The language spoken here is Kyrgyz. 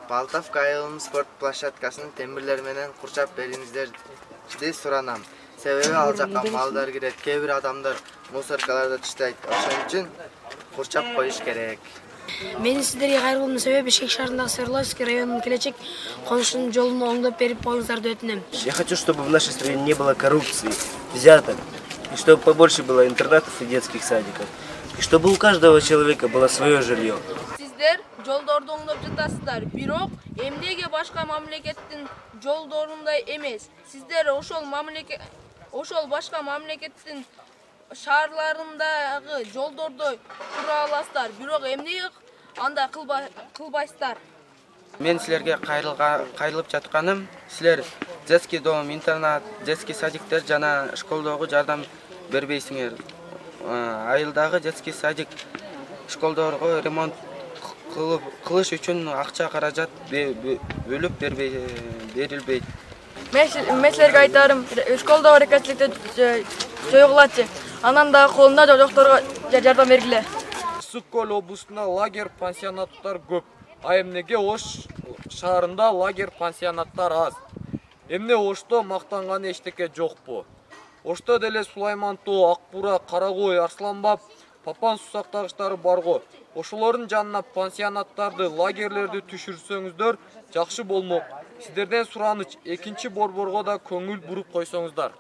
Балтовка айылым спорт площадкасын темирлер менен курчап бериңиздерди суранам. Себеби ал жакка малдар кирет, кээ бир адамдар мусоркаларды таштайт. Ошон үчүн курчап коюш керек. Менин сиздерге кайрылуумдун себеби Бишкек шаарындагы Свердловский районунун келечек конушунун жолун оңдоп берип коюңуздарды өтүнөм. Я хочу, чтобы в нашей стране не было коррупции, взяток, и чтобы побольше было интернатов и детских садиков, и чтобы у каждого человека было свое жилье. Сиздер жолдорду оңдоп жатасыздар, бирок эмнеге башка мамлекеттин жолдорундай эмес? Сиздер ошол башка мамлекеттин шаарларындагы жолдордой тура аласыздар, бирок эмнеге андай кылбайсыздар? Мен силерге кайрылып жатканым, силер детский дом, интернат, детский садиктер жана школдогу жардам бербейсиңер. Айылдагы детский садик, школдорго ремонт кылыш үчүн акча каражат бөлүп берилбейт. Мен силерге айтарым, школдогу рекетчиликти жоюгулачы. Анан дагы колунда жокторго жардам бергиле. Ысык-Көл облусунда лагерь пансионаттар көп. А эмнеге Ош шаарында лагерь пансионаттар аз? Эмне Ошто мактанган эчтеке жокпу? Ошто деле Сулайман Тоо, Ак Бура, Карагой, Арсланбап, Папан суу сактагычтары барго. Ошолордун жанына пансионаттарды, лагерлерди түшүрсөңүздөр жакшы болмок. Сиздерден сураныч, экинчи борборго да көңүл буруп койсоңуздар.